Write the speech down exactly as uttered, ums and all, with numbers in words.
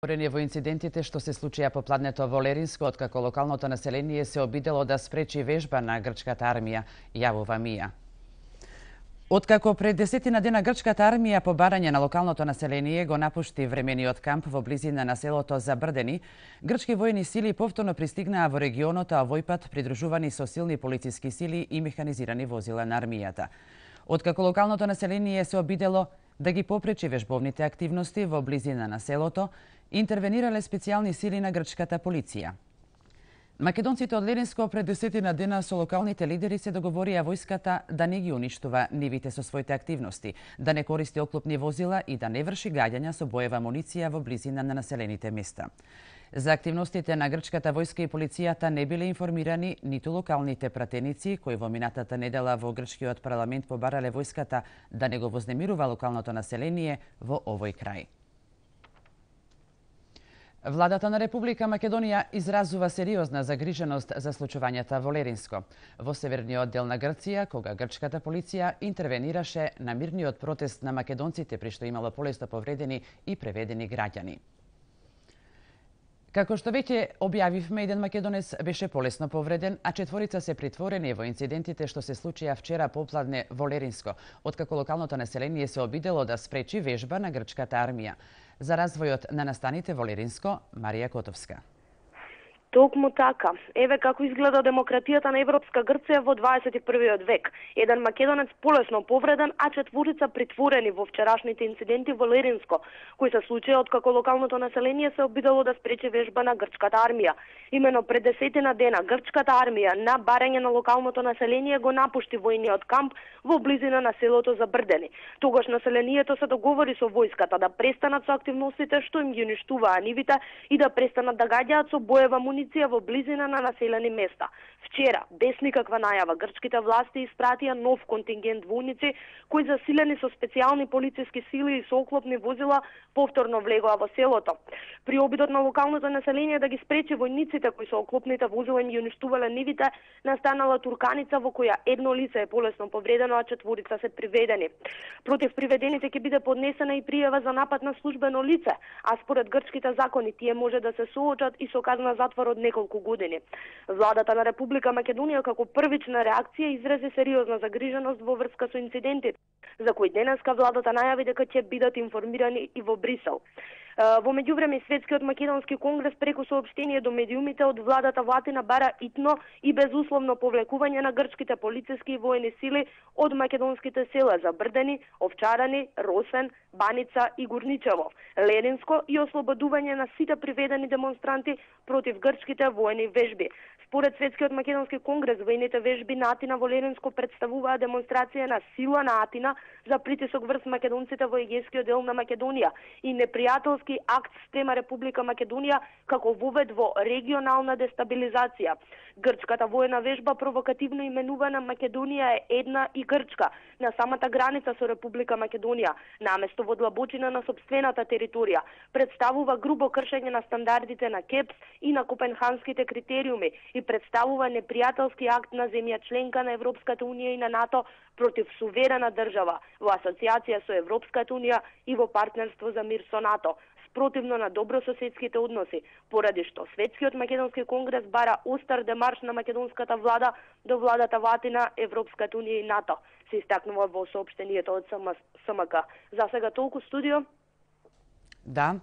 Отворени во инцидентите што се случија попладнето во Леринско, откако локалното население се обидело да спречи вежба на грчката армија, јавува МИА. Откако пред десетина дена грчката армија по барање на локалното население го напушти времениот камп во близина на селото Забрдени, грчки војни сили повторно пристигнаа во регионот, а овој пат придружувани со силни полициски сили и механизирани возила на армијата. Откако локалното население се обидело да ги попречи вежбовните активности во близина на селото, интервенирале специјални сили на грчката полиција. Македонците од Леринско пред десетина дена со локалните лидери се договорија војската да не ги уништува нивите со своите активности, да не користи оклопни возила и да не врши гаѓања со боева муниција во близина на населените места. За активностите на грчката војска и полицијата не биле информирани ниту локалните пратеници, кои во минатата недела во грчкиот парламент побарале војската да не го вознемирува локалното население во овој крај. Владата на Република Македонија изразува сериозна загриженост за случувањата во Леринско, во северниот дел на Грција, кога грчката полиција интервенираше на мирниот протест на македонците, при што имало полесно повредени и преведени граѓани. Како што веќе објавивме, еден македонец беше полесно повреден, а четворица се притворени во инцидентите што се случија вчера попладне во Леринско, откако локалното население се обидело да спречи вежба на грчката армија. За развојот на настаните во Леринско, Марија Котовска. Токму така. Еве како изгледа демократијата на Европска Грција во дваесет и првиот век. Еден македонец полесно повреден, а четворица притворени во вчерашните инциденти во Леринско, кои се случија откако локалното население се обидело да спречи вежба на грчката армија. Имено пред десетина дена грчката армија на барање на локалното население го напушти војниот камп во близина на селото Забрдени. Тогаш населението се договори со војската да престанат со активностите што им ги уништуваа нивите и да престанат да гаѓаат со боева муниција во близина на населени места. Вчера, без никаква најава, грчките власти испратија нов контингент војници кои засилени со специјални полициски сили и со оклопни возила повторно влегоа во селото. При обидот на локалното население да ги спречи војниците кои со оклопните возила им ги уништувале нивите, настанала турканица во која едно лице е полесно повредено, а четворица се приведени. Против приведените ќе биде поднесена и пријава за напад на службено лице, а според грчките закони тие може да се соочат и со казна затвор од неколку години. Владата на Република Македонија како првична реакција изрази сериозна загриженост во врска со инцидентите, за кои денеска владата најави дека ќе бидат информирани и во Брисел. Во меѓувреме, Светскиот македонски конгрес преку соопштение до медиумите од владата во Атина бара итно и безусловно повлекување на грчките полициски и воени сили од македонските села Забрдени, Овчарани, Росен, Баница и Гурничево, Леринско и ослободување на сите приведени демонстранти против грчките воени вежби. Според Светскиот македонски конгрес, војните вежби на Атина во Леринско представуваа демонстрација на сила на Атина за притисок врз македонците во егејскиот дел на Македонија и непријателски акт спрема Република Македонија како вовед во регионална дестабилизација. Грчката воена вежба, провокативно именувана Македонија е една и грчка, на самата граница со Република Македонија, наместо во длабочина на сопствената територија, представува грубо кршење на стандардите на КЕПС и на копенханските критериуми и представува непријателски акт на земја членка на Европската унија и на НАТО против суверена држава во асоциација со Европската унија и во партнерство за мир со НАТО, спротивно на добрососедските односи, поради што Светскиот македонски конгрес бара остар демарш на македонската влада до владата во Атина, Европската унија и НАТО, се истакнува во соопштението од СМК. За сега толку, студио. Да.